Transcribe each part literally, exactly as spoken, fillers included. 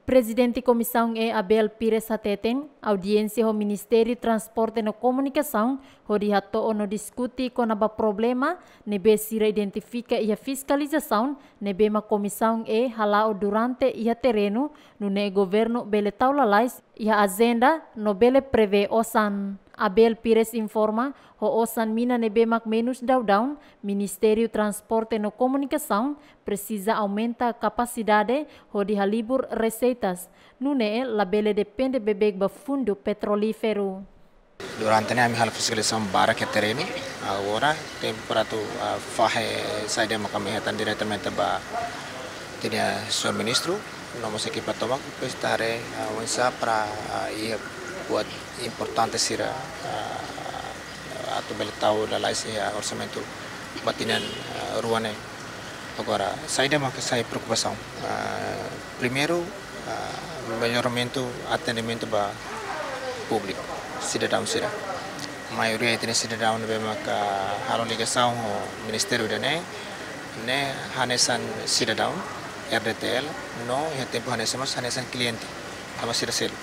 Prezidente Komisaun E Abel Pires hateten, audiénsia ho Ministériu Transporte no Komunikasaun hodi hato'o no diskute kona-ba problema ne'ebé sira identifika iha fiskalizasaun ne'ebé mak Komisaun E hala'o durante iha terrenu, nune'e governu bele tau lalais iha ajenda no bele prevee osan. Abel Pires informa, ho osan mina ne'ebé mak menus daudaun, Ministériu Transporte no Komunikasaun presiza aumenta kapasidade hodi halibur reseitas, nune'e labele depende beibeik ba fundu petrolíferu. Durante ne'e ami halo fiskalizasaun barak iha terrenu. Agora tempu para atu, ah, fahe saida mak ami hetan diretamente ba ita-nia señór ministru, no mós ekipa tomak, depois ita haree, ah, oinsá para, ah, iha buat importante sira, ah, atu bele tau lalais iha orsamentu ba tinan, ah, rua ne'e. Agora, saida mak sai preokupasaun? Ah, primeiru, ah, melloramentu atendimentu ba públiku, sidadaun sira. Maioria ita-nia sidadaun ne'ebé maka halo ligasaun ho ministériu ida-ne'e, ne'e hanesan sidadaun R D T L, no iha tempu hanesan mós hanesan kliente, tanba sira seluk.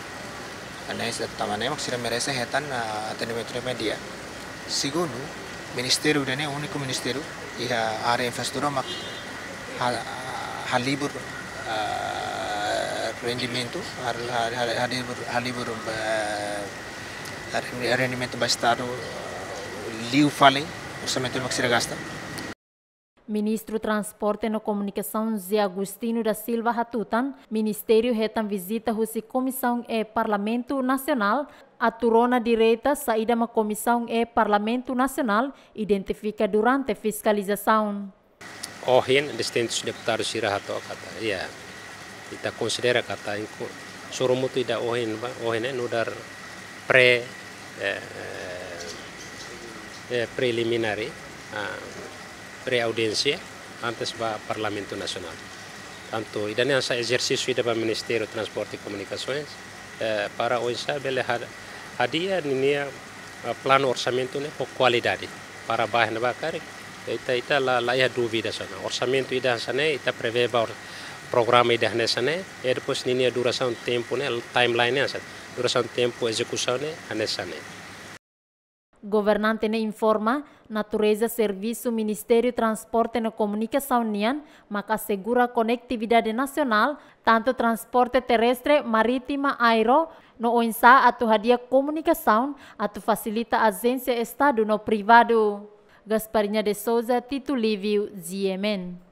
Hanesan, tanba ne'e mak sira merese hetan, ah, atendimentu ne'ebé di'ak. Segundu, ministériu ida-ne'e úniku ministériu iha área infraestrutura mak ha-, halibur, ah, rendimentu, hal-, hal-, hal-, halibur, halibur, ah, rendi-, rendimentu ba Estadu, ah, liu fali orsamentu mak sira gasta. Ministru Transporte no Komunikasaun José Agostinho da Silva hatutan, ministériu hetan vizita husi Komisaun E Parlamentu Nasionál, atu rona direta saida mak Komisaun E Parlamentu Nasionál identifika durante fiskalizasaun. Ohin, distintus deputadu sira hato'o katak, ya, ita konsidera katak ita sorumutu ida ohin ba, ohin ne'e nu'udar pre, eh, eh, preliminary, ah, pre-audiénsia antes ba Parlamentu Nasionál. Tantu ida-ne'e hanesan ezersísiu ida ba Ministériu Transporte e Komunikasoens, eh, para oinsá bele ha-, hadi'a ninia, eh, planu orsamentu ne'e ho kualidade. Para ba iha ne'ebá karik, ita, ita la, la iha dúvidas ona. Orsamentu ida hanesan ne'e, ita prevee ba or-, programa ida hanesan ne'e, e depois ninia durasaun tempu ne'e, timeline ne'e hanesan, durasaun tempu ezekusaun ne'e hanesan ne'e. Governante ne'e informa, natureza servisu Ministériu Transporte no Komunikasaun nian maka asegura konetividade nasionál, tantu transporte terrestre, marítima, aéreu, no oinsá atu hadi'a komunikasaun atu fasilita ajénsia Estadu no privadu. Gasparinha de Souza, Tito Livio, G M N.